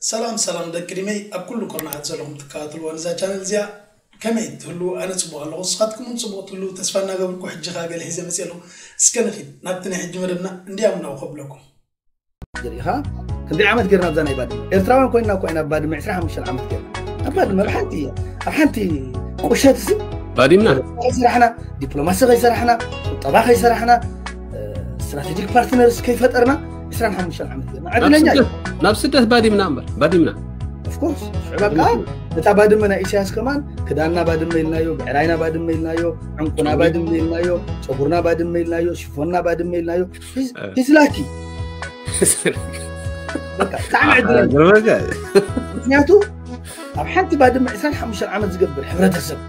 ሰላም ሰላም ደቂ ሪመይ፣ ኣብ ኩሉ ኩርናዓት ዘለኹም ትከታተልዋ ነዛ ቻነል እዚኣ፣ ከመይ ትህሉ? ኣነ ጽቡቕ ኣለኹ፣ ንስኻትኩም እውን ጽቡቕ ትህሉ ተስፋ እናገበርኩ፣ ሕጂ ኸኣ ገለ ሒዘ መጽእ ኣለኹ። እስከ ንኺድ ናብቲ ናይ ሕጂ መደብና እንድያም ናው ከብለኩም። ሪኢኻ ክንደይ ዓመት ጌርና ኣብዛ ናይ ባድመ? ኤርትራውያን ኮይንና እኮ ኢና ኣብ ባድመ ዕስራን ሓሙሽተን ዓመት ጌርና። ኣብ ባድመ ኣብ ሓንቲ እያ፣ ኣብ ሓንቲ ቁሸት ሲ ባዲምና ከይሰራሕና፣ ዲፕሎማሲ ከይሰራሕና፣ ቁጠባ ከይሰራሕና፣ ስትራቴጂክ ፓርትነርስ ከይፈጠርና ዕስራን ሓሙሽተን ዓመት ጌርና። ናብ ዕድለኛ ስደት ናብ ስደት ባዲምና እምበር ባዲምና ኦፍኮርስ ሽዕብ ኣብካ እታ ባድመ ናይ ኢሳያስ ከማን ክዳንና ባድመ ኢልናዮ፣ ብዕራይና ባድመ ኢልናዮ፣ ዕንቁና ባድመ ኢልናዮ፣ ጨጉርና ባድመ ኢልናዮ፣ ሽፎንና ባድመ ኢልናዮ። ሂዝላኪ በቃ ብጣዕሚ ዕድለኛ። ገርመልካ ምክንያቱ ኣብ ሓንቲ ባድመ ዕስራን ሓሙሽተን ዓመት ዝገብር ሕብረተሰብ፣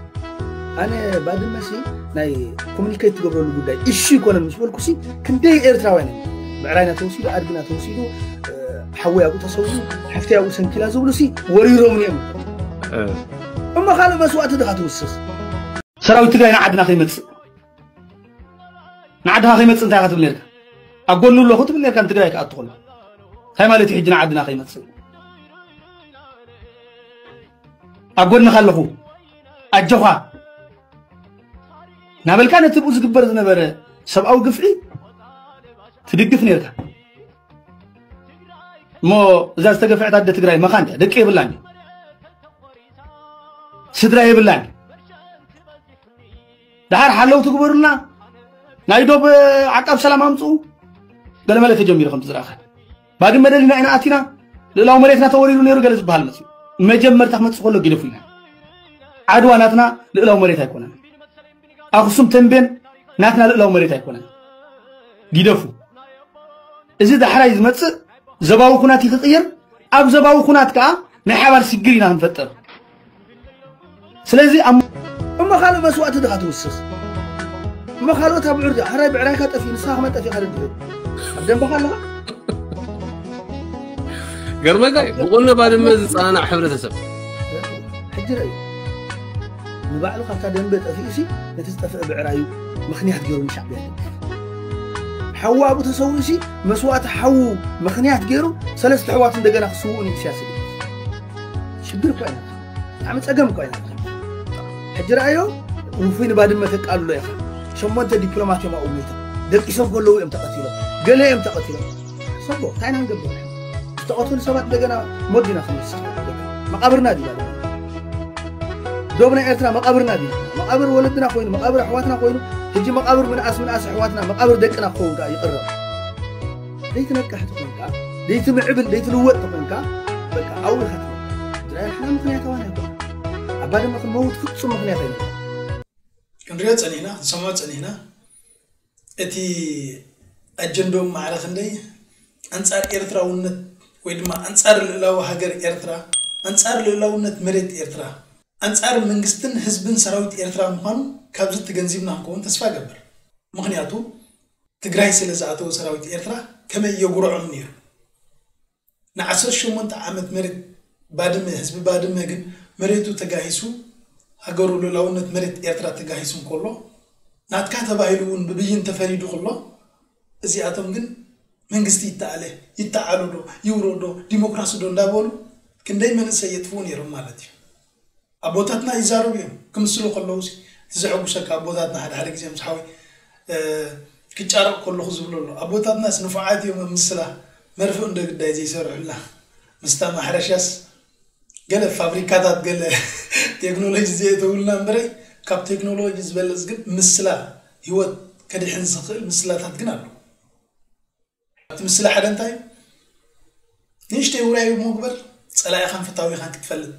ኣነ ባድመ ሲ ናይ ኮሚኒኬት ትገብረሉ ጉዳይ እሺ ይኮነን ምስ በልኩ ሲ ክንደይ ኤርትራውያን እዮም ብዕራይና ተወሲዱ፣ ኣድግና ተወሲዱ፣ ሓወይ ኣብኡ ተሰዊኡ፣ ሓፍተይ ኣብኡ ሰንኪላ ዝብሉ ሲ ወሪሮምኒ እዮም። እሞ ካልእ መስዋእቲ ድኻ ትውስኽ? ሰራዊት ትግራይ ንዓድና ከይመፅእ ንዓድኻ ከይመፅእ እንታይ ኢኻ ትብል ነርካ? ኣብ ጎኑ ኣለኹ ትብል ነርካ ንትግራይ ክኣቱ ከሎ። እንታይ ማለት እዩ ሕጂ ንዓድና ከይመፅእ? ኣብ ጎንኻ ኣለኹ ኣጆኻ ናበልካ ነቲ ብኡ ዝግበር ዝነበረ ሰብኣዊ ግፍዒ ትድግፍ ነርካ። እሞ እዛ ዝተገፍዐት ኣደ ትግራይ መኻን እያ፣ ደቂ የብላን፣ ስድራ የብላን። ደሓር ሓለው ትግበሩልና፣ ናይ ዶብ ዓቃብ ሰላም ኣምፅኡ። ገለመለ ተጀሚሩ ከምቲ ዝረኣኸ ባድመ ደሊና ኢና ኣቲና፣ ልእላዊ መሬትና ተወሪሩ ነይሩ ገለ ዝበሃል መፅኡ። መጀመርታ ክመፅእ ከሎ ጊደፉ ኢና። ዓድዋ ናትና ልእላዊ መሬት ኣይኮነን። ኣኽሱም ተንቤን ናትና ልእላዊ መሬት ኣይኮነን። ጊደፉ። እዚ ዳሕራይ ዝመፅእ ዘባዊ ኩናት እዩ ክቕየር። ኣብ ዘባዊ ኩናት ከዓ ናይ ሓባር ሽግር ኢና ክንፈጥር። ስለዚ ኣብ እሞ ካልእ መስዋእቲ ድኻ ትውስኽ? እሞ ካልኦት ኣብ ዕርዲ ሕራይ ብዕራይካ ጠፊኡ ንስኻ ክመን ጠፊኻ ደድሕሪ ኣብ ደንበኻ ኣለኻ? ገርመልካ እዩ። ብቁነ ባድመ ዝፀናናዕ ሕብረተሰብ ሕጂ ረእዩ ንባዕሉ ካብታ ደንበ ጠፊኡ ሲ ነቲ ዝጠፍአ ብዕራዩ ምኽንያት ገይሩ ንሻዕብያ ሓዉ ኣብኡ ተሰዊኡ ሲ መስዋእቲ ሓዉ ምኽንያት ገይሩ ሰለስተ ኣሕዋት እንደገና ክስውኡ ንኢሳያስ ሽግር እኮ ኢና ብጣዕሚ ፀገም እኮ ኢና ሕጂ ረኣዮ ውፉይ ንባድመ ተቃልሎ ኢኻ ሸሞንተ ዲፕሎማት እዮም ኣብኡ ሞይቶም ደቂሶም ከለዉ እዮም ተቐቲሎም ገለ እዮም ተቐቲሎም ሰቦ እንታይ ኢና ንገብር ዝተቐተሉ ሰባት እንደገና ሞት ዲና ክንወስድ መቃብርና ድዩ ዶብ ናይ ኤርትራ መቃብርና ድዩ መቃብር ወለድና ኮይኑ መቃብር ኣሕዋትና ኮይኑ ሕጂ መቃብር ምንኣስ ምንኣስ ኣሕዋትና መቃብር ደቅና ክኸውን ከዓ ይቕረብ ዘይትነቅሕ ተኾንካ ዘይትምዕብል ዘይትልወጥ ተኾንካ በቃ ኣብኡ ኢኻ ትነብር ድራይ ሓና ምክንያታዊ ኣይኮነ ኣብ ባድመ ክንመውት ፍጹም ምክንያት ኣይነበረ ክንሪኦ ጸኒሕና ክንሰምዖ ጸኒሕና እቲ ኣጀንዶም ማዕረ ክንደይ ኣንጻር ኤርትራውነት ወይ ድማ ኣንጻር ልእላዊ ሃገር ኤርትራ ኣንጻር ልእላውነት መሬት ኤርትራ ኣንጻር መንግስትን ህዝብን ሰራዊት ኤርትራ ምዃኑ ካብዚ ተገንዚብና ክንከውን ተስፋ ገብር ምኽንያቱ ትግራይ ስለ ዝኣተወ ሰራዊት ኤርትራ ከመይ የጉርዖም ነይሩ ንዓሰርተ ሸሞንተ ዓመት መሬት ባድመ ህዝቢ ባድመ ግን መሬቱ ተጋሂሱ ሃገሩ ልእላውነት መሬት ኤርትራ ተጋሂሱ እንከሎ ናትካ ተባሂሉ እውን ብብይን ተፈሪዱ ከሎ እዚኣቶም ግን መንግስቲ ይተኣለ ይተዓሉ ዶ ይውረድ ዶ ዲሞክራሲ ዶ እንዳበሉ ክንደይ መንእሰይ የጥፍኡ ነይሮም ማለት እዩ ኣቦታትና ይዛረቡ እዮም ክምስሉ ከለዉ እቲ ዘሐጉሰካ ኣቦታትና ሓደ ሓደ ግዜ ምስ ሓወይ ክጫረቕ ከለኹ ዝብሎ ኣሎ ኣቦታትናስ ንፉዓት እዮም ኣብ ምስላ መርፍእ እንደ ግዳይ ዘይሰርሑላ ምስታ ማሕረሻስ ገለ ፋብሪካታት ገለ ቴክኖሎጂ ዘየተውልና እምበረይ ካብ ቴክኖሎጂ ዝበለፅ ግን ምስላ ህይወት ከድሕን ዝኽእል ምስላታት ግን ኣሎ ኣብቲ ምስላ ሓደ እንታይ እዩ ንእሽተይ ውራይ እሞ ግበር ጸላኢኻን ፈታዊኻን ክትፈልጥ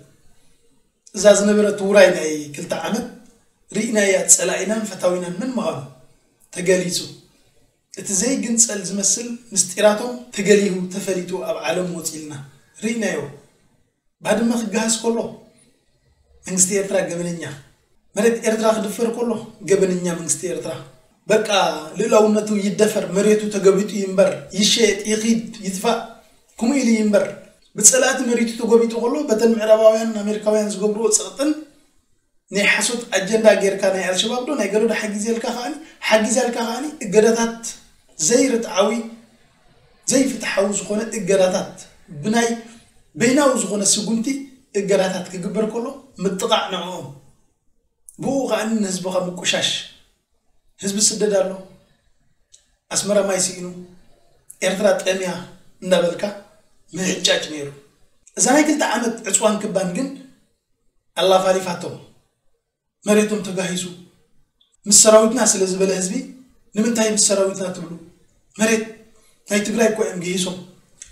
እዛ ዝነበረት ውራይ ናይ ክልተ ዓመት ርኢናያ ጸላኢናን ፈታዊናን መን ምዃኑ ተገሊጹ እቲ ዘይግንጸል ዝመስል ምስጢራቶም ተገሊሁ ተፈሊጡ ኣብ ዓለም ወጺልና ርኢናዮ ባድመ ክገሃስ ከሎ መንግስቲ ኤርትራ ገበነኛ መሬት ኤርትራ ክድፈር ከሎ ገበነኛ መንግስቲ ኤርትራ በቃ ልእላውነቱ ይደፈር መሬቱ ተገቢጡ ይንበር ይሸየጥ ይኺድ ይጥፋእ ከምኡ ኢሉ ይንበር ብፀላእቲ መሬቱ ተጎቢጡ ከሎ በተን ምዕራባውያን ኣሜሪካውያን ዝገብርዎ ፀቕጥን ናይ ሓሶት ኣጀንዳ ጌርካ ናይ ኣልሸባብ ዶ ናይ ገለዶ ሓጊዘልካ ከዓኒ ሓጊዛልካ ከዓኒ እገዳታት ዘይርትዓዊ ዘይፍትሓዊ ዝኾነ እገዳታት ብናይ በይናዊ ዝኾነ ስጉምቲ እገዳታት ክግበር ከሎ ምጥቓዕ ንዕኦም፣ ብኡ ከኣ ንህዝብኻ ምቁሻሽ። ህዝቢ ስደድ ኣሎ፣ ኣስመራ ማይ ስኢኑ፣ ኤርትራ ጠምያ እንዳበልካ ምህጫጭ ነይሩ። እዛ ናይ ክልተ ዓመት ዕፅዋን ክባን ግን ኣላፋሊፋቶም። መሬቶም ተጋሂሱ ምስ ሰራዊትና ስለ ዝበለ ህዝቢ ንምንታይ ምስ ሰራዊትና ትብሉ? መሬት ናይ ትግራይ እኮ እዮም ገሂሶም።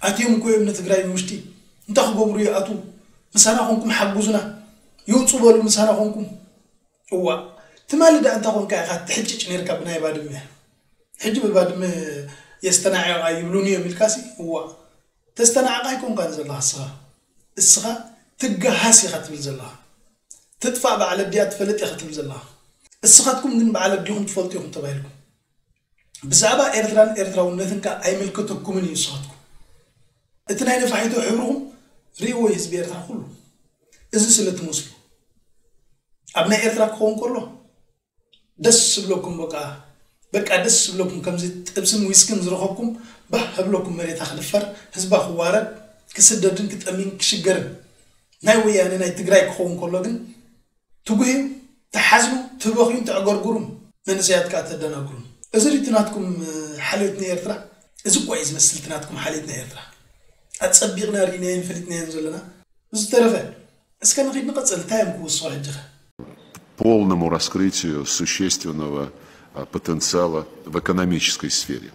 ኣትዮም እኮ እዮም ንትግራይ ንውሽጢ። እንታይ ክገብሩ ይኣትዉ? ምሳና ኮንኩም ሓግዙና። ይውፁ በሉ ምሳና ኮንኩም። እዋ ትማሊ ደኣ እንታ ኮንካ ኢኻ ትሕጭጭ ነይርካ ብናይ ባድመ። ሕጂ ብባድመ የስተናዕቓ ይብሉኒ እዮም ኢልካሲ እዋ ተስተናዕቓ ኣይኮንካን ዘለኻ እስኻ። እስኻ ትገሃስ ኢኻ ትብል ዘለኻ። ትጥፋእ በዓል ኣዲኣ ትፈልጥ ኢኻ ትብል ዘለኻ። እስኻትኩም ግን በዓል ኣዲኹም ትፈልጡ ኢኹም ተባሂልኩም። ብዛዕባ ኤርትራን ኤርትራውነትን ከኣ ኣይምልከተኩምን እዩ እስኻትኩም። እቲ ናይ ነፋሒቶ ሕብርኹም ርእይዎ እዩ ህዝቢ ኤርትራ ኩሉ። እዚ ስለ ትመስሉ ኣብ ናይ ኤርትራ ክኸውን ከሎ ደስ ዝብለኩም በቃ በቃ ደስ ዝብለኩም ከምዚ ጥብስን ዊስክን ዝረኸብኩም ባህ ህብለኩም መሬታ ክድፈር ህዝባ ክዋረድ ክስደድን ክጠሚን ክሽገርን ናይ ወያነ ናይ ትግራይ ክኸውን ከሎ ግን ትጉህዩ ትሓዝኑ ትበኽዩን ተዕገርግሩን መንእሰያት ከዓ ተደናግሩን እዚ ድዩ ናትኩም ሓልዮት ንኤርትራ እዚ እኳ እዩ ዝመስል እቲ ናትኩም ሓልዮት ንኤርትራ ኣፀቢቕና ርኢናዮን ፈሊጥናዮን ዘለና ብዝተረፈ እስከ ንኺድ ንቐፅል እንታይ እዮም ክውስኹ ሕጂ ኸ полному раскрытию существенного а, потенциала в экономической сфере.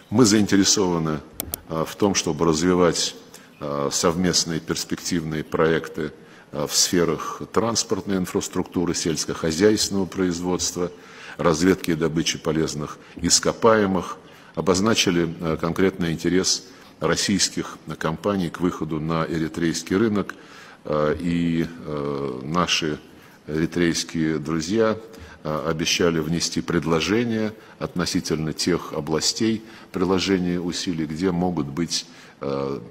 Мы заинтересованы а, в том, чтобы развивать а, совместные перспективные проекты а, в сферах транспортной инфраструктуры, сельскохозяйственного производства, разведки и добычи полезных ископаемых, обозначили а, конкретный интерес российских компаний к выходу на эритрейский рынок, а, и а, наши Эритрейские друзья а, обещали внести предложения относительно тех областей приложения усилий, где могут быть а,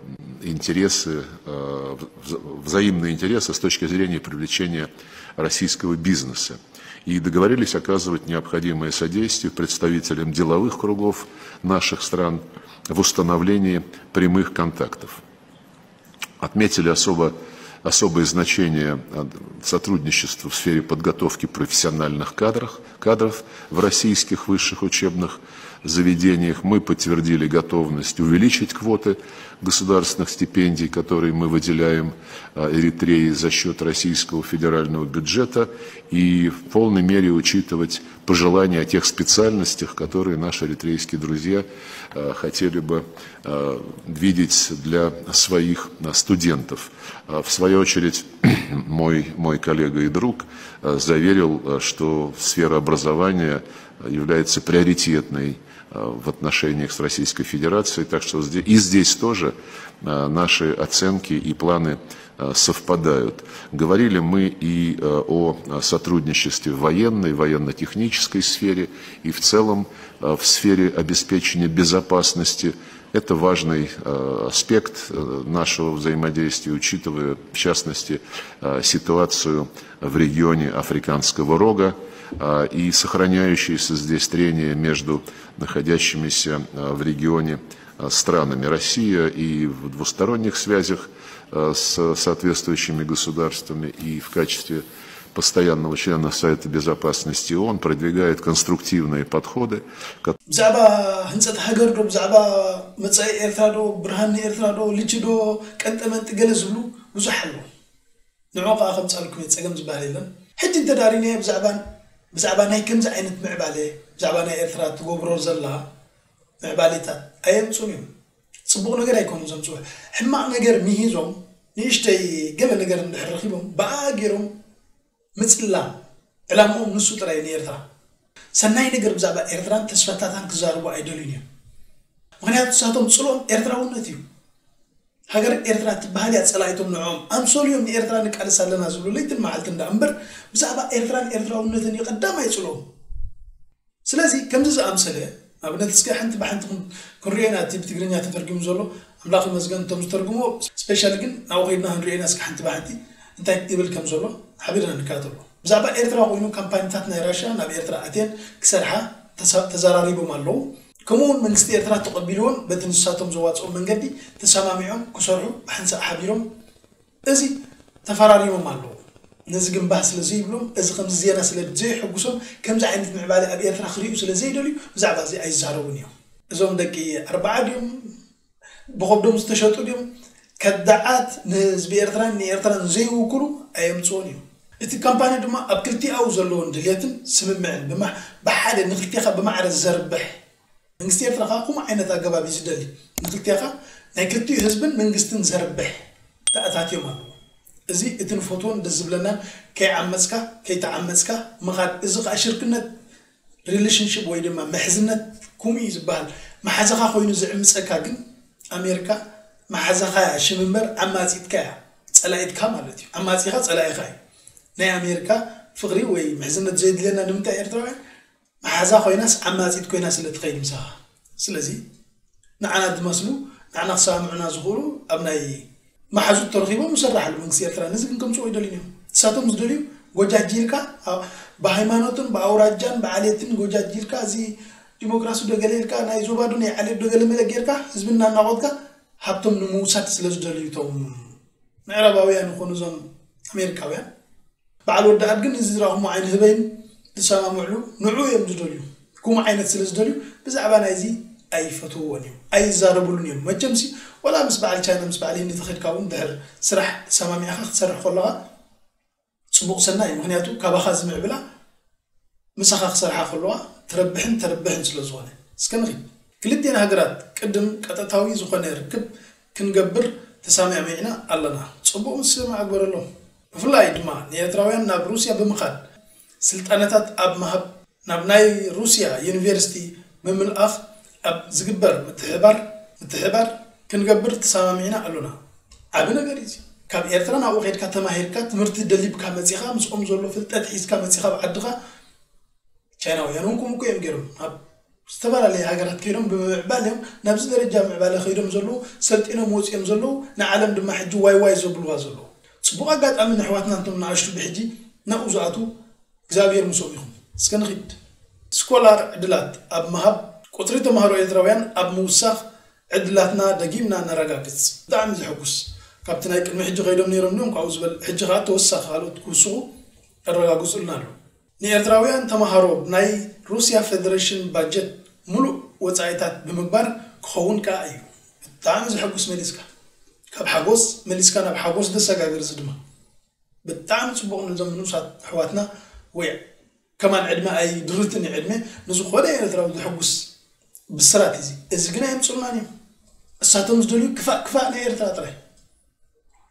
интересы, а, вза- взаимные интересы с точки зрения привлечения российского бизнеса. И договорились оказывать необходимое содействие представителям деловых кругов наших стран в установлении прямых контактов. Отметили особо, особое значение сотрудничества в сфере подготовки профессиональных кадров, кадров в российских высших учебных заведениях. Мы подтвердили готовность увеличить квоты государственных стипендий, которые мы выделяем Эритрее за счет российского федерального бюджета, и в полной мере учитывать пожелания о тех специальностях, которые наши эритрейские друзья хотели бы видеть для своих студентов. В свою очередь, мой, мой коллега и друг заверил, что сфера образования является приоритетной в отношениях с Российской Федерацией, так что и здесь тоже наши оценки и планы совпадают. Говорили мы и о сотрудничестве в военной, военно-технической сфере и в целом в сфере обеспечения безопасности. Это важный аспект нашего взаимодействия, учитывая, в частности, ситуацию в регионе Африканского рога и сохраняющиеся здесь трения между находящимися в регионе странами. Россия и в двусторонних связях с соответствующими государствами и в качестве постоянного члена Совета Безопасности ООН продвигает конструктивные подходы, ብዛዕባ ህንፀት ሃገር ዶ ብዛዕባ መፃኢ ኤርትራ ዶ ብርሃን ንኤርትራ ዶ ልቺ ዶ ቀንጠመንጢ ገለ ዝብሉ ብዙሕ ኣለዉ ንዑ ከዓ ከምፃልኩም እየ ፀገም ዝበሃል የለን ሕጂ እንተዳሪናዮ ብዛዕባ ብዛዕባ ናይ ከምዚ ዓይነት ምዕባለ ብዛዕባ ናይ ኤርትራ ትገብሮ ዘላ ምዕባሌታት ኣየምፁን እዮም ፅቡቕ ነገር ኣይኮኑን ዘምፅኡ ሕማቕ ነገር ምሂዞም ንእሽተይ ገለ ነገር እንድሕር ረኺቦም ብኣ ገይሮም ምፅላም ዕላምኦም ንሱ ጥራይ ንኤርትራ ሰናይ ነገር ብዛዕባ ኤርትራን ተስፋታታን ክዛረቡ ኣይደልዩን እዮም ምክንያቱ ንሳቶም ፅልኦም ኤርትራውነት እዩ ሃገር ኤርትራ ትበሃል እያ ፀላኢቶም ንዕኦም ኣምሰሉ እዮም ንኤርትራ ንቃለስ ኣለና ዝብሉ ለይትን መዓልትን ደኣ እምበር ብዛዕባ ኤርትራን ኤርትራውነትን እዩ ቀዳማይ ፅልኦም ስለዚ ከምዚ ዝኣምሰለ ንኣብነት እስከ ሓንቲ ብሓንቲ ክንሪኦ ኢና እቲ ብትግርኛ ተተርጊሙ ዘሎ ኣምላኽ ይመስገን እቶም ዝተርጉሞ specially ግን ናብኡ ከይድና ክንሪኦ ኢና እስከ ሓንቲ ብሓንቲ እንታይ ይብል ከም ዘሎ ሓቢርና ንከታተሎ ብዛዕባ ኤርትራ ኮይኑ ካምፓኒታት ናይ ራሽያ ናብ ኤርትራ ኣትየን ክሰርሓ ተዘራሪቦም ኣለዉ ከምኡ እውን መንግስቲ ኤርትራ ተቐቢልዎን በቲ ንሳቶም ዘዋፅኦ መንገዲ ተሰማሚዖም ክሰርሑ ብሓንሳእ ሓቢሮም እዚ ተፈራሪሞም ኣለዉ። ነዚ ግን ባህ ስለ ዘይብሎም፣ እዚ ከምዚ ዜና ስለ ዘይሕጉሶም፣ ከምዚ ዓይነት ምዕባለ ኣብ ኤርትራ ክርእዩ ስለ ዘይደልዩ ብዛዕባ እዚ ኣይዛረቡን እዮም። እዞም ደቂ ኣርብዓ ድዮም፣ ብኸብዶም ዝተሸጡ ድዮም፣ ከዳዓት ንህዝቢ ኤርትራን ንኤርትራን ዘይውክሉ ኣየምፅኦን እዮም። እቲ ካምፓኒ ድማ ኣብ ክልቲኣው ዘለዎን ድልየትን ስምምዕን ብሓደ ንክልቲኻ ብማዕረ ዘርብሕ መንግስቲ ኤርትራ ከዓ ከምኡ ዓይነት ኣገባብ እዩ ዝደሊ። ንክልቲኻ ናይ ክልቲኡ ህዝብን መንግስትን ዘርብሕ ተኣታትዮም ኣለዉ። እዚ እቲ ንፈትዎን ደስ ዝብለናን ከይዓመፅካ ከይተዓመፅካ ምኻድ። እዚ ከዓ ሽርክነት ሪሌሽንሽፕ ወይ ድማ ምሕዝነት ከምኡ እዩ ዝበሃል። መሓዛኻ ኮይኑ ዝዕምፀካ ግን ኣሜሪካ መሓዛኻ እያ ሽም እምበር ዓማፂትካ እያ ፀላኢትካ ማለት እዩ። ዓማፂኻ ፀላኢኻ እዩ። ናይ ኣሜሪካ ፍቕሪ ወይ ምሕዝነት ዘየድልየና ንምንታይ ኤርትራውያን መሓዛ ኮይናስ ዓማፂት ኮይና ስለ ትኸይድ ምሳኻ። ስለዚ ንዓና ዝመስሉ ንዓና ክሰማምዑና ዝኽእሉ ኣብ ናይ መሓዙት ተረኺቦም ይሰራሕሉ መንግስቲ ኤርትራ። ነዚ ግን ከምፅኦ ይደልዩ እዮም። ንሳቶም ዝደልዩ ጎጃጅልካ ብሃይማኖትን ብኣውራጃን ብዓሌትን ጎጃጅልካ እዚ ዲሞክራሲ ዶ ገለ ኢልካ ናይ ዞባ ዶ ናይ ዓሌት ዶ ገለ መለ ጌርካ ህዝቢ እናናቆትካ ሃብቶም ንምውሳድ ስለ ዝደልዩ እቶም ምዕራባውያን ይኾኑ እዞም ኣሜሪካውያን። በዓል ወዲ ኣድግን እዚ ዝረኣኹሞ ዓይኒ ህበይን ዝሰማምዕሉ ንዑ እዮም ዝደልዩ። ከምኡ ዓይነት ስለ ዝደልዩ ብዛዕባ ናይዚ ኣይፈትውዎን እዮም፣ ኣይዛረብሉን እዮም። መቸምሲ ወላ ምስ በዓል ቻይና ምስ በዓል ህንዲ ተኸድካ እውን ድሕር ስራሕ ሰማሚዕኻ ክትሰርሕ ከለኻ ፅቡቕ ሰናይ እዩ። ምክንያቱ ካባኻ ዝምዕብላ ምሳኻ ክሰርሓ ከለዋ ትረብሕን ተርብሕን ስለ ዝኾነ። እስከ ንኺድ። ክልቴና ሃገራት ቅድም ቀጥታዊ ዝኾነ ርክብ ክንገብር ተሰማሚዕና ኣለና። ጽቡቕ ምስምማዕ ግበረሎም። ብፍላይ ድማ ንኤርትራውያን ናብ ሩስያ ብምኻድ ስልጠናታት ኣብ ምሃብ ናብ ናይ ሩስያ ዩኒቨርሲቲ ብምልኣኽ ኣብ ዝግበር ምትሕባር ምትሕባር ክንገብር ተሰማሚዕና ኣሎና። ዓቢ ነገር እዩ። ካብ ኤርትራ ናብኡ ከድካ ተማሂርካ ትምህርቲ ደሊብካ መጺኻ ምስኦም ዘሎ ፍልጠት ሒዝካ መጺኻ ኣብ ዓድኻ ቻይናውያን እውን ከምኡ እዮም ገይሮም ኣብ ዝተፈላለየ ሃገራት ከይዶም ብምዕባል እዮም ናብዚ ደረጃ ምዕባለ ከይዶም ዘለዉ ሰልጢኖም ወፂኦም ዘለዉ ንዓለም ድማ ሕጂ ዋይ ዋይ ዘብልዋ ዘለዉ ፅቡቅ ኣጋጣሚ ንሕዋትና እንቶም ንኣሽቱ ብሕጂ ናብኡ ዝኣትዉ እግዚኣብሔር ምስኦም ይኹን እስከ ንኺድ ስኮላር ዕድላት ኣብ ምሃብ ቁፅሪ ተምሃሮ ኤርትራውያን ኣብ ምውሳኽ ዕድላትና ደጊምና ነረጋግፅ ብጣዕሚ ዘሐጉስ ካብቲ ናይ ቅድሚ ሕጂ ከይዶም ነይሮም እዮም ካብኡ ዝበል ሕጂ ከዓ ተወሳኺ ካልኦት ክውስኹ ኣረጋግፁልና ኣሎ ንኤርትራውያን ተምሃሮ ናይ ሩስያ ፌደሬሽን ባጀት ሙሉእ ወፃኢታት ብምግባር ክኸውን ከዓ እዩ ብጣዕሚ ዘሐጉስ መሊስካ ካብ ሓጎስ መሊስካ ናብ ሓጎስ ደሰጋግር እዚ ድማ ብጣዕሚ ፅቡቕ ነዞም ንኡሳት ኣሕዋትና ወይ ከማን ዕድመ ኣይድርትን እዩ ዕድመ ንዝኾነ ኤርትራዊ ዘሐጉስ ብስራት እዚ እዚ ግን ኣየምፅኡልናን እዮም እሳቶም ዝደልዩ ክፋእ ክፋእ ናይ ኤርትራ ጥራይ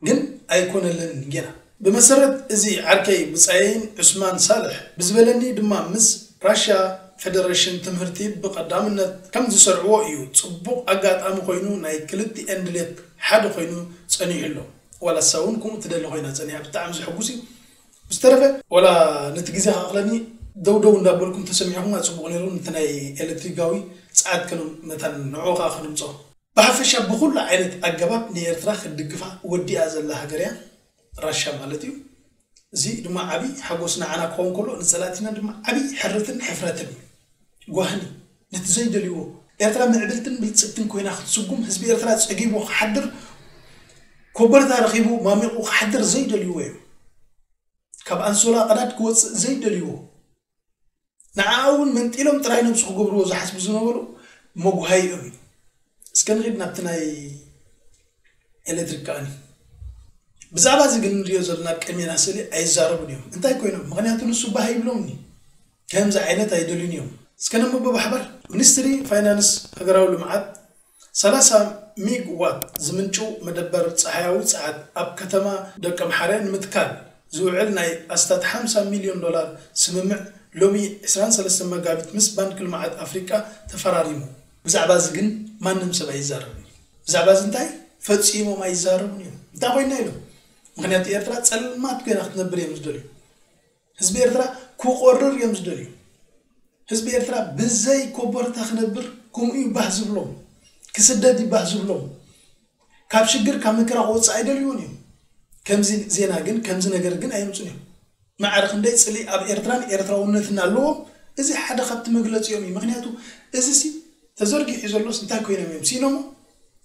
ግን ኣይኮነለንን ጌና ብመሰረት እዚ ዓርከይ ብፃየይን ዑስማን ሳልሕ ብዝበለኒ ድማ ምስ ራሽያ ፌደሬሽን ትምህርቲ ብቐዳምነት ከም ዝሰርዕዎ እዩ ፅቡቕ ኣጋጣሚ ኮይኑ ናይ ክልቲኤን ድሌት ሓደ ኮይኑ ፀኒሑ ኣሎ ዋላ እሳ እውን ከምኡ ትደሊ ኮይና ፀኒሓ ብጣዕሚ ዘሐጉስ እዩ ብዝተረፈ ዋላ ነቲ ግዜ ከኣኽለኒ ደው ደው እንዳበልኩም ተሰሚዕኹም ኣፅቡቕ ነይሩ ነቲ ናይ ኤሌክትሪካዊ ፀዓት ከነም መታን ንዑ ከዓ ከነምፅኦ ብሓፈሻ ብኹሉ ዓይነት ኣገባብ ንኤርትራ ክትድግፋ ወዲኣ ዘላ ሃገር እያ ራሻ ማለት እዩ እዚ ድማ ዓብዪ ሓጎስ ንዓና ክኸውን ከሎ ንፀላእቲና ድማ ዓብዪ ሕርትን ሕፍረትን እዩ ጓህኒ ነቲ ዘይደልይዎ ኤርትራ ምዕብልትን ብልፅግትን ኮይና ክትስጉም ህዝቢ ኤርትራ ፀጊቡ ክሓድር ኮበርታ ረኺቡ ማሚቑ ክሓድር ዘይደልይዎ እዮም ካብ ኣንሶላ ቀዳድ ክወፅእ ዘይደልይዎ ንዓ እውን መንጢሎም ጥራይ ነብሱ ክገብርዎ ዝሓስቡ ዝነበሩ መጉሃይኦም እዩ እስከ ንኺድ ናብቲ ናይ ኤሌክትሪክ ከዓኒ ብዛዕባ እዚ ግን ንሪኦ ዘለና ቅድሜና ስእሊ ኣይዛረቡን እዮም እንታይ ኮይኖም ምክንያቱ ንሱ ባህ ይብሎምኒ ከምዚ ዓይነት ኣይደልዩን እዮም እስከ ነንብቦ ብሓባር ሚኒስትሪ ፋይናንስ ሃገራዊ ልምዓት ሰላሳ ሚግ ዋት ዝምንጭው መደበር ጸሓያዊ ጸዓት ኣብ ከተማ ደቀምሓረ ንምትካል ዝውዕል ናይ ኣስታት ሓምሳ ሚልዮን ዶላር ስምምዕ ሎሚ ዕስራን ሰለስተን መጋቢት ምስ ባንክ ልምዓት ኣፍሪቃ ተፈራሪሙ። ብዛዕባ እዚ ግን ማንም ሰብ ኣይዛረብን እዩ። ብዛዕባ እዚ እንታይ ፈጺሞም ኣይዛረቡን እዮም። እንታይ ኮይና ኢሎም። ምኽንያቱ ኤርትራ ጸልማት ኮይና ክትነብር እዮም ዝደልዩ። ህዝቢ ኤርትራ ክቆርር እዮም ዝደልዩ። ህዝቢ ኤርትራ ብዘይ ኮቦርታ ክነብር ከምኡ እዩ ባህ ዝብሎም። ክስደድ እዩ ባህ ዝብሎም። ካብ ሽግር ካብ መከራ ክወፅእ ኣይደልዩን እዮም። ከምዚ ዜና ግን ከምዚ ነገር ግን ኣየምፁን እዮም። ማዕረ ክንደይ ፅልኢ ኣብ ኤርትራን ኤርትራውነትን ኣለዎም። እዚ ሓደ ካብቲ መግለፂኦም እዩ። ምክንያቱ እዚ ሲ ተዘርጊሑ ዘሎስ እንታይ ኮይኖም እዮም ሲኖሞ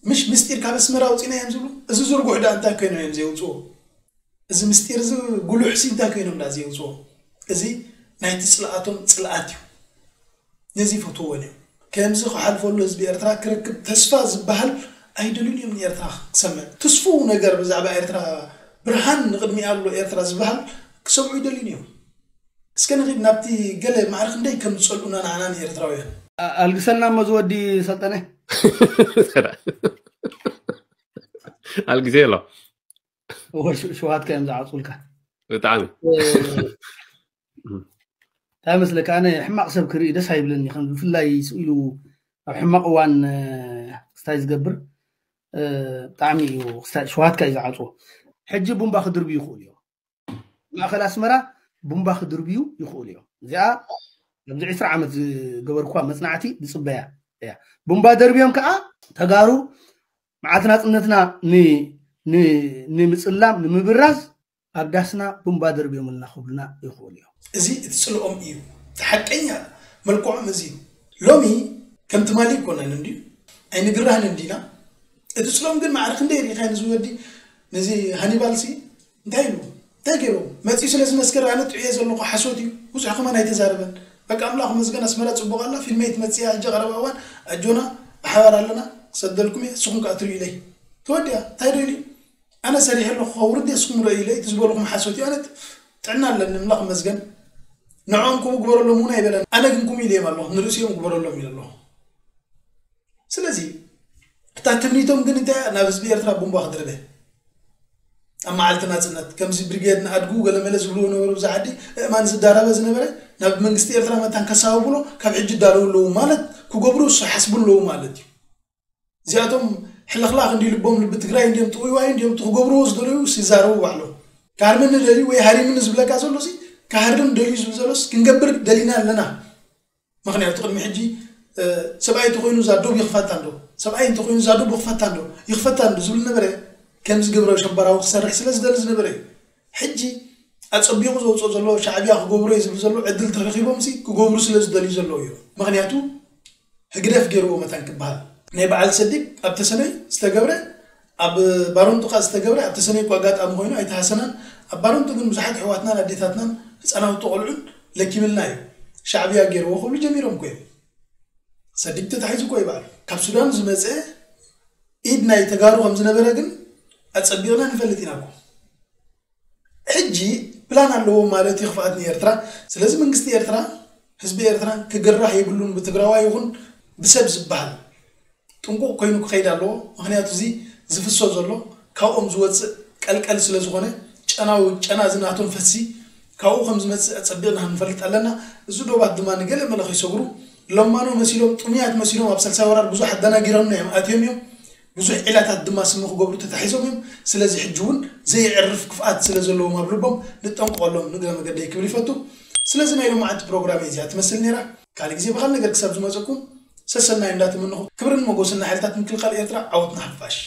ምሽ ምስጢር ካብ ኣስመራ ኣውፂእና እዮም ዝብሉ። እዚ ዝርጉሕ ደኣ እንታይ ኮይኖም እዮም ዘውፅዎ? እዚ ምስጢር እዚ ጉሉሕ ሲ እንታይ ኮይኖም ዳ ዘየውፅዎ? እዚ ናይቲ ፅልኣቶም ፅልኣት እዩ። ነዚ ይፈትዎን እዮም። ከምዚ ክሓልፈሉ ህዝቢ ኤርትራ ክረክብ ተስፋ ዝበሃል ኣይደልዩን እዮም። ንኤርትራ ክሰምዕ ትስፉው ነገር ብዛዕባ ኤርትራ፣ ብርሃን ንቕድሚኣ ኣሎ ኤርትራ ዝበሃል ክሰምዑ ይደልዩን እዮም። እስከ ንኺድ ናብቲ ገለ ማዕረ ክንደይ ከም ዝጸልኡና ንዓና ንኤርትራውያን። ኣልግሰልና እሞ ዝወዲ ሰልጠነ። ኣልግዜ ኣሎ። ሸዋትካ እዮም ዝዓፁልካ። ብጣዕሚ እንታይ መስለካ፣ ኣነ ሕማቕ ሰብ ክርኢ ደስ ኣይብለኒ። ከም ብፍላይ ስኢሉ ኣብ ሕማቕ እዋን ክስታይ ዝገብር ብጣዕሚ እዩ። ሸዋትካ እዩ ዝዓፅዎ። ሕጂ ቡምባ ክድርብዩ ይኽእሉ እዮም። ማእኸል ኣስመራ ቡምባ ክድርብዩ ይኽእሉ እዮም። እዚኣ ኣብዚ ዕስራ ዓመት ዝገበርኩዋ መፅናዕቲ ዝፅበያ እያ። ቡምባ ደርብዮም ከዓ ተጋሩ መዓልቲ ናፅነትና ንምፅላም ንምብራዝ ኣብ ዳስና ቡምባ ደርብዮምልና ክብሉና ይኽእሉ እዮም። እዚ እቲ ፅልኦም እዩ። እቲ ሓቀኛ መልክዖም እዚ እዩ። ሎሚ ከም ትማሊ ኣይኮነን እንድዩ፣ ኣይንግራህን እንዲና። እቲ ፅልኦም ግን ማዕረ ክንደይ ርኢኻዮ ንዚ ወዲ፣ ነዚ ሃኒባልሲ እንታይ ኢሉ እንታይ ገይሩ መፂኡ ስለ ዝመስከረ ኣነ ጥዑየ ዘለኹ ሓሶት እዩ። ብዙሕ ከማን ኣይተዛረበን። በቃ ኣምላኽ መስገን ኣስመራ ፅቡቕ ኣላ። ፊልመይ ትመፅእ እያ ሕጂ ቀረባ እዋን ኣጆና ብሓባር ኣለና ክሰደልኩም እየ። ንስኹም ከዓ ትርእዩ ኢለይ ተወዲኣ እንታይ ዶ ኢሉ ኣነ ሰሪሐ ኣለኹ ከውርድ እስኩም ረእዩለይ እቲ ዝበልኹም ሓሶት እዩ። ኣነ ጥዕና ኣለኒ ኣምላኽ መስገን። ንዕኦም ከምኡ ግበረሎም እውን ኣይበለን። ኣነ ግን ከምኡ ኢለዮም ኣለኹ ንርእሲኦም ግበረሎም ኢለ ኣለኹ። ስለዚ እታ ትምኒቶም ግን እንታይ እያ? ናብ ህዝቢ ኤርትራ ቡምባ ክድርበ ኣብ መዓልቲ ናፅነት ከምዚ ብሪጌድ ንኣድጉ ገለመለ ዝብልዎ ነበሩ። ብዛ ዓዲ እእማን ዝዳረበ ዝነበረ ናብ መንግስቲ ኤርትራ መታን ከሳብብሎ ካብ ሕጂ ይዳለዉ ኣለዉ ማለት ክገብሩ ዝሓስቡ ኣለዉ ማለት እዩ። እዚኣቶም ሕልኽላኽ እንዲ ልቦም ልቢ ትግራይ እንዲዮም ጥውይዋይ እንዲዮም እቲ ክገብርዎ ዝደለዩ ይዛረቡ ባዕሎም። ክሃርመኒ ደልዩ ወይ ሃሪምኒ ዝብለካ ዘሎ ሲ ክሃርም ደልዩ ዝብል ዘሎስ ክንገብር ደሊና ኣለና። ምክንያቱ ቅድሚ ሕጂ ሰብኣይ እንተኮይኑ እዛ ዶብ ይኽፈታ እንዶ ሰብኣይ እንተኮይኑ እዛ ዶብ ይኽፈታ እንዶ ይኽፈታ እንዶ ዝብል ነበረ። ከምዚ ግብረ ሸበራዊ ክሰርሕ ስለ ዝደሊ ዝነበረ እዩ። ሕጂ ኣፀቢቑ ዘውፅኦ ዘሎ ሻዕብያ ክገብሮ እዩ ዝብል ዘሎ ዕድል ተረኪቦም ሲ ክገብሩ ስለ ዝደልዩ ዘለዉ እዮም። ምክንያቱ ህግደፍ ገይርዎ መታን ክበሃል ናይ በዓል ሰዲግ ኣብ ተሰነይ ዝተገብረ ኣብ ባሮንጡ ካ ዝተገብረ ኣብ ተሰነይ እኮ ኣጋጣሚ ኮይኑ ኣይተሃሰናን። ኣብ ባሮንጡ ግን ብዙሓት ኣሕዋትናን ኣዴታትናን ህፃናውቲ ቆልዑን ለኪምልና እዩ። ሻዕብያ ገይርዎ ክብሉ ጀሚሮም እኮ እዮም። ሰዲግ ተታሒዙ እኮ ይበዓል ካብ ሱዳን ዝመፀ ኢድ ናይ ተጋሩ ከም ዝነበረ ግን ኣፀቢቕና ንፈልጥ ኢና እኮ። ሕጂ ፕላን ኣለዎ ማለት እዩ ክፍኣት ንኤርትራ። ስለዚ መንግስቲ ኤርትራ ህዝቢ ኤርትራ ክግራህ የብሉን ብትግራዋይ ይኹን ብሰብ ዝበሃል ጥንቁቕ ኮይኑ ክኸይድ ኣለዎ። ምክንያቱ እዚ ዝፍሶ ዘሎ ካብኦም ዝወፅእ ቀልቀል ስለ ዝኾነ ጨናዊ ጨና እዚ ናቶም ፈሲ ካብኡ ከም ዝመፅእ ኣፀቢቕና ክንፈልጥ ኣለና። እዚ ዶባት ድማ ንገለ መለ ከይሰግሩ ለማኖ መሲሎም ጥሙያት መሲሎም ኣብ ሳልሳይ ወራር ብዙሕ ኣደናጊሮምና እዮም ኣትዮም እዮም። ብዙሕ ዒላታት ድማ ስሚ ክገብሩ ተታሒዞም እዮም። ስለዚ ሕጂ እውን ዘየዕርፍ ክፍኣት ስለ ዘለዎም ኣብ ልቦም ንጠንቀቐሎም ንግረ መገደይ ክብል ይፈቱ። ስለዚ ናይ ሎማዓንቲ ፕሮግራም እዚኣ ትመስል ነይራ። ካልእ ግዜ ብኻል ነገር ክሳብ ዝመፀኩም ሰሰናይ እንዳተመነኹ ክብርን መጎስን ንሓይልታት ምክልኻል ኤርትራ። ዓወት ንሓፋሽ።